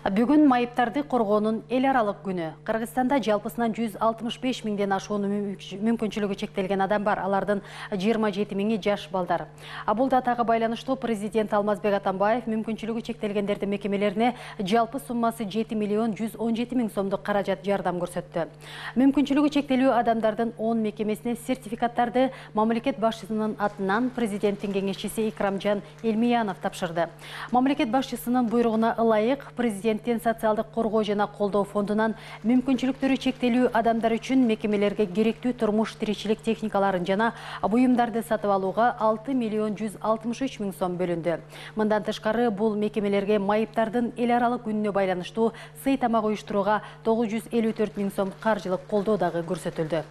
Бүгүн майыптарды коргоонун эл аралык күнү. Кыргызстанда жалпысынан 165 миңден ашуун мүмкүнчүлүгү чектелген адам бар. Алардын 27 миңи жаш балдар. Бул датага байланыштуу президент Алмазбек Атамбаев мүмкүнчүлүгү чектелгендердин мекемелерине жалпы суммасы 7 миллион 117 миң сомдук каражат жардам көрсөттү. Мүмкүнчүлүгү чектелүү адамдардын 10 мекемесине сертификаттарды мамлекет башчысынын атынан президенттин кеңешчиси Икрамжан Элмиянов тапшырды. Мамлекет башчысынын буйругуна ылайык президенттин социалдык коргоо жана колдоо фондунан мүмкүнчүлүктөрү чектелүү адамдар үчүн мекемелерге керектүү турмуш тиричилик техникаларын жана буюмдарды сатып алууга 6 миллион 163 миң сом бөлүндү. Мындан тышкары бул мекемелерге майыптардын эл аралык күнүнө байланыштуу сый тамак уюштурууга 954 миң сом каржылык колдоо дагы көрсөтүлдү.